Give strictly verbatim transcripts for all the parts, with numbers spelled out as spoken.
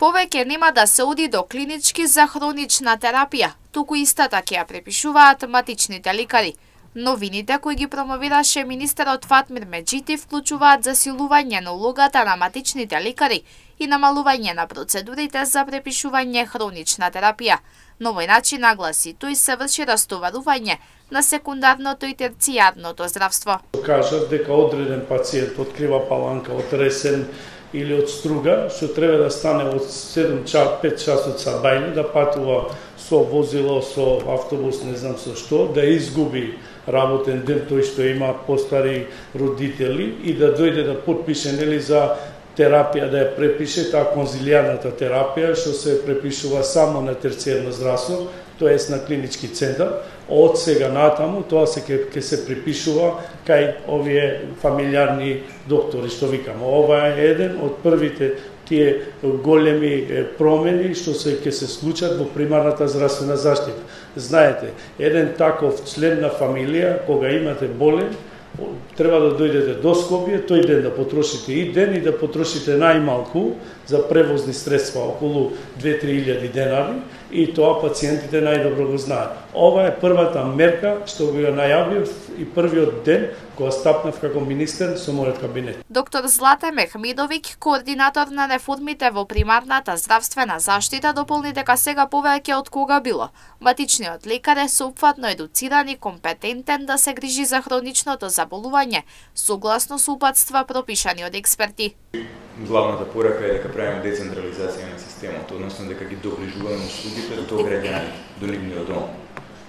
Повеќе нема да се оди до клинички за хронична терапија, туку истата ќе ја препишуваат матичните лекари. Новините кои ги промовираше министерот Фатмир Меджити вклучуваат засилување на улогата на матичните лекари и намалување на процедурите за препишување хронична терапија. На овој начин, нагласи тој, се врши растоварување на секундарното и терцијарното здравство. Кажат дека одреден пациент открива паланка од ресен или од струга, што треба да стане од седум пет часот са бајле, да патува со возило, со автобус, не знам со што, да изгуби работен ден тој што има постари родители и да дојде да подпише нели за терапија, да ја препише таа конзилијарната терапија што се препишува само на терцијарно здравство, тоест на клинички центар. Од сега натаму тоа се ќе се препишува кај овие фамилиарни доктори што викаме. Ова е еден од првите тие големи промени што се ќе се случат во примарната здравствена заштита. Знаете, еден таков член на фамилија, кога имате болен, треба да дојдете до Скопје, тој ден да потрошите и ден и да потрошите најмалку за превозни средства околу две-три илјади денари, и тоа пациентите најдобро го знаат. Ова е првата мерка што го најавив и првиот ден кога стапнав како министер со мојот кабинет. Доктор Злата Мехмидовиќ, координатор на реформите во примарната здравствена заштита, дополни дека сега повеќе од кога било матичниот лекар е соопфатно едуциран и компетентен да се грижи за хроничното заболување, согласно со упатства пропишани од експерти. Главната порака е дека правиме децентрализација на системот, односно дека ги доближуваме услугите до граѓаните, до нивниот дом.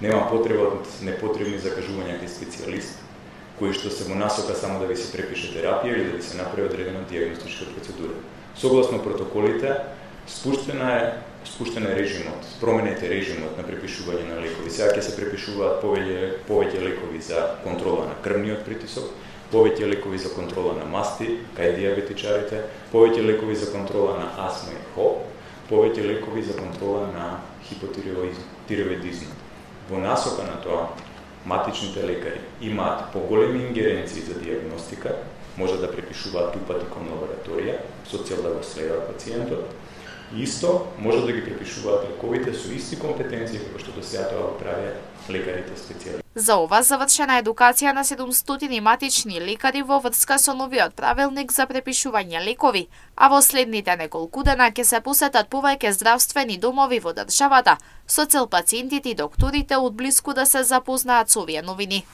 Нема потреба од непотребни закажувања кај специјалист, кои што се во насока само да ви се препише терапија или да ви се направи одредена дијагностичка процедура. Согласно протоколите, спуштена е спуштен е режимот, променете режимот на препишување на лекови. Сега ќе се препишуваат повеќе повеќе лекови за контрола на крвниот притисок, повеќе лекови за контрола на масти кај дијабетичарите, повеќе лекови за контрола на астма и хоп, повеќе лекови за контрола на хипотиреоидизм. Во насока на тоа, матичните лекари имаат поголеми ингеренции за дијагностика, може да препишуваат упати кон лабораторија со цел да го следат пациентот. Исто може да ги препишуваат лековите со исти компетенции како што до сега тоа го правеа лекарите специјалисти. За ова завршена едукација на седумстотини матични лекари во врска со новиот правилник за препишување лекови, а во следните неколку дена ќе се посетат повеќе здравствени домови во државата со цел пациентите и докторите од блиску да се запознаат со овие новини.